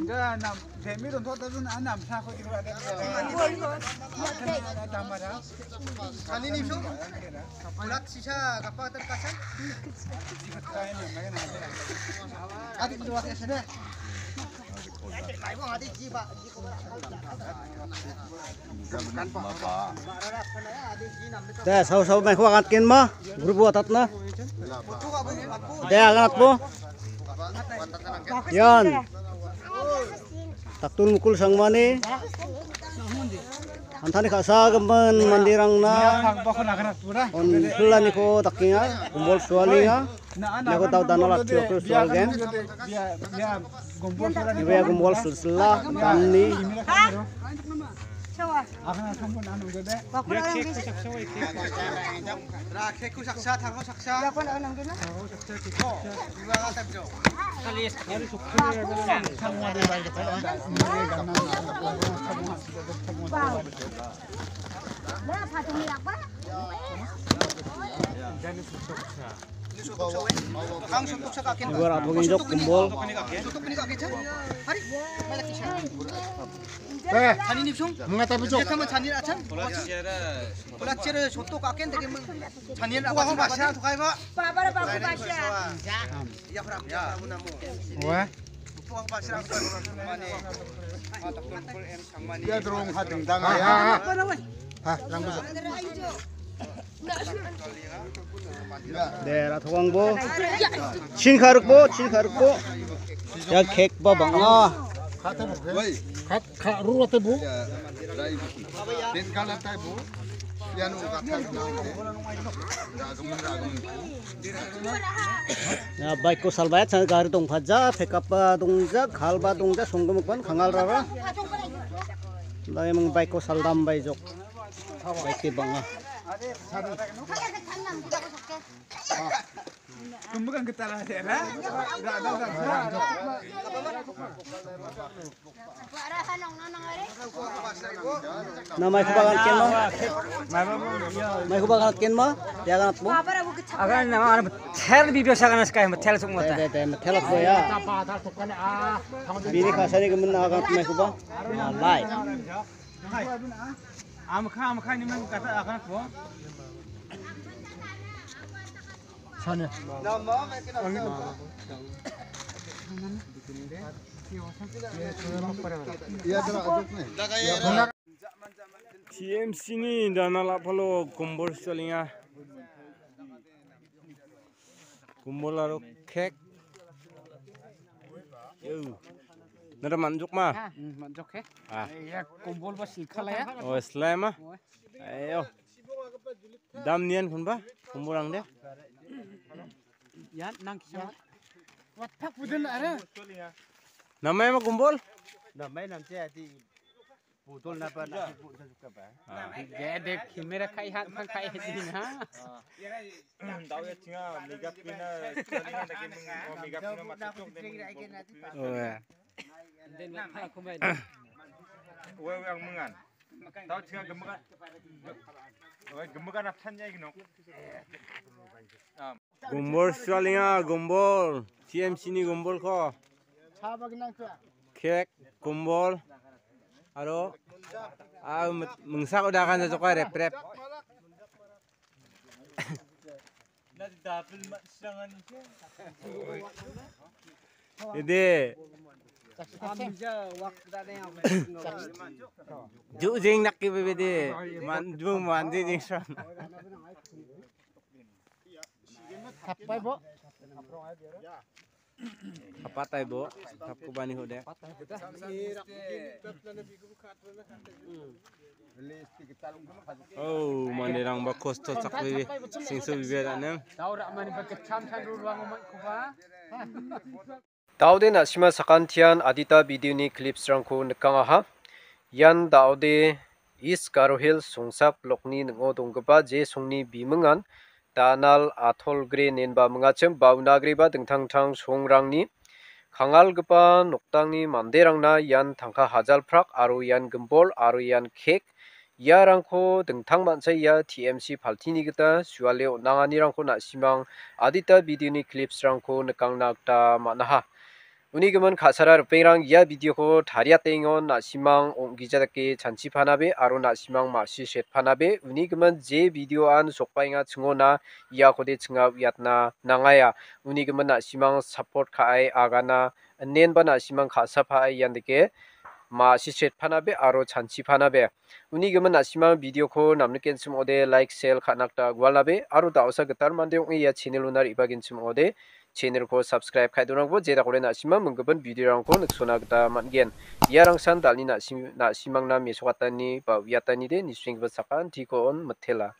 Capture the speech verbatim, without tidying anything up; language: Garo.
Enggak, nam, Demi rontok tapi nak enam, aku kira ada. Kali ni, so. Ulat sisa, kapal terkasan. Adik dua tiga sudah. Te, sau, sau, mai khuwa ngat ken ma, group wa tat na. Te, agan at po. Yan. Taktul mukul sangmani. Antani kasa gemen mandirang na. On pulani ko takinga, kumbol sualinga. Nako tau dana la tio ko sual gen. Ibu ya kumbol sel-, sela, dani. Ibu ya kumbol. Eh, mengatapi, Cok. Dia kamu chanir acan? Pula cere soto kaken tadi meng chanir apa sih bahasa tukai, Pak? Babar babu basya. Ya, orang ya. Wah. Puang pasir apa? Mane. Matak kumpul em samani. Dia dorong hating tang ya. Ha, ha, ha. Ha, rang bisa. Dera thokang bo. Chin kharuk bo, chin kharuk bo. Ya khek ba bang. Ah. Khat, khat, rura te bo. Ya, baik ko salbayat sa gari dong phaja, pickup ba dong ja, khal ba dong ja, songdom kon khangal rara. Lai mong baik ko saldam bai jok. Baik ke banga. Kumbukan kita lah ya, ha? Na mai khuwa ngat ken ma? Mai khuwa ngat ken ma? Ya ngat mo? Agan nama agan tel bibio sa kana skai tel suk mata. Te, te, te, tel ko ya. Bini kasani kemen agan mai khuwa. Lai. Amkha, amkha ni men kata akan ko. Sana. T M C ni dana lapalo kumbol sualinga. Kumbol aro khek. Yo. Nara manjok ma? Hmm, manjok he. Ah. Ya, kumbol ba silkhala ya. Oh, slime ah. Oh. Ayo. Dam nian kun ba? Kumbol ang de. Ya, nang kisa. Wat pak buden ara. Namai ma kumbol? Namai nam che ati. Putol napa nasi putol suka ba. Ah. Ya dek kamera kai hat kan kai hat ni ha. Dau ya chinga mega pina, chinga lagi meng-, mega pina macam tu dek meng-, Oh ya. Then what aku main. Wei wei ang mengan. Dau chinga gemekan. Wei gemekan apa chan ya gino. Gumbol sualinga, gumbol. T M C ni gumbol ko. Khek, gumbol. Aro, ah, mengsak udah kan jatuh rep rep. Jadi. Ju jing nak ki bebe de. Man, ju man jing jing san. Tapai bo. Tapatai bo. Tapku bani hode. Oh, manderang ba kosto chakbe singso bibe daneng. Daode na·sima sakantian adita video-ni clips-rangko nikangaha. Ian daode East Garo Hills Songsap blokni ning·o donggipa je songni bimingan Danal Atolgre inenba mingachim, ba unagreba dingtang dingtang songrangni kangalgipa noktangni manderangna ian tangka hajalprak aro ian gimbol aro ian kek, iarangko dingtang mancha ia T M C paltini gita suale on·anganirangko na·simang adita video-ni clips-rangko nikangna gita man·aha. Uni gimin ka·sara ripengrang ia video-ko tariatengon na·simang ong·gija dake chanchipanabe aro na·simang ma·si setpanabe. Uni gimin je video-an sokbaenga chingona iakode chinga uiatna nangaia. Uni gimin na·simang support ka·ai agana inenba na·simang ka·sapaai ian dake ma·si setpanabe aro chanchipanabe. Uni gimin na·simang video-ko namnikenchim ong·ode like, share ka·na gita gualnabe aro da·osa gital mande ong·e ia channel-ona re·bagenchim ong·ode channel-ko subscribe ka·e donangbo je dakode na·simang minggimin video-rangko niksona gita man·gen. Iarangsan dal·ni na·sim-, na·simangna mesokatani ba uiatanide nisenggipa sakantikon mitela.